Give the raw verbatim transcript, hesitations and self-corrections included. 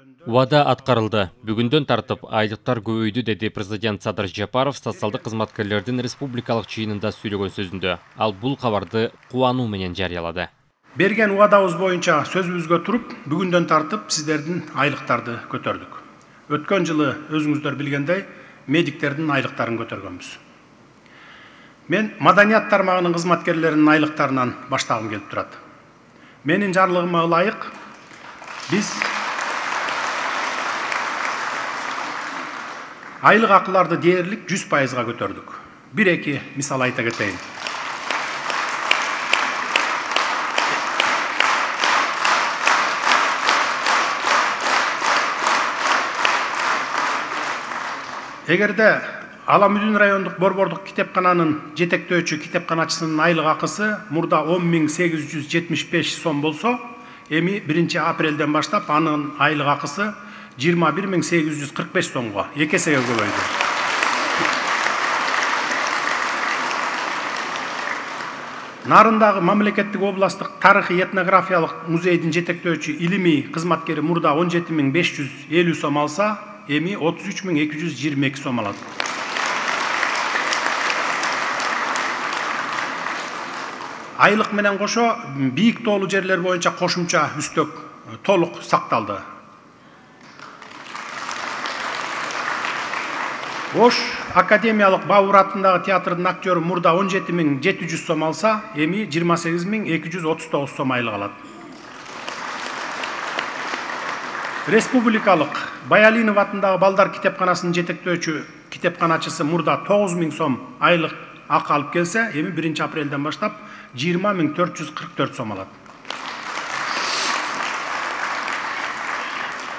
Убада аткарылды. Бүгүндөн тартып айлыктар көбөйдү, деди президент Садыр Жапаров социалдык кызматкерлердин республикалык жыйынында сүйлөгөн сөзүндө. Ал бул кабарды кубануу менен жарыялады. Берген убадабыз боюнча сөзүбүзгө туруп, бүгүндөн тартып сиздердин айлыктарды көтөрдүк. Өткөн жылы өзүңүздөр билгендей, медиктердин айлыктарын көтөргөнбүз. Мен маданият тармагынын кызматкерлеринин айлыктарынан баштагым келип турат. Менин жарлыгыма ылайык биз айлык акыларды дээрлик жүз пайызга көтөрдүк. Бир эки мисал айта кетейин. Эгерде Аламүдүн райондук борбордук китепкананын жетектөөчү китепканачысынын айлык акысы мурда он миң сегиз жүз жетимиш беш сом болсо, эми биринчи апрелден баштап анын айлык акысы жыйырма бир миң сегиз жүз кырк беш сомго эки эсеге көбөйдү. Нарындагы мамлекеттик областтык тарыхый этнографиялык музейдин жетектөөчү илимий кызматкери мурда он жети миң беш жүз элүү сом алса, эми отуз үч миң эки жүз жыйырма эки сом алат. Айлык менен кошо бийик тоолуу жерлер боюнча кошумча үстөк толук сакталды. Ош академиялык Бабур атындагы театрдын актёру мурда он жети миң жети жүз сом алса, эми жыйырма сегиз миң эки жүз отуз тогуз сом айлык алат. Республикалык Баялинов атындагы балдар китепканасынын жетектөөчү китепканачысы мурда тогуз миң сом айлык акы алып келсе, эми биринчи апрелден баштап жыйырма миң төрт жүз кырк төрт сом алат.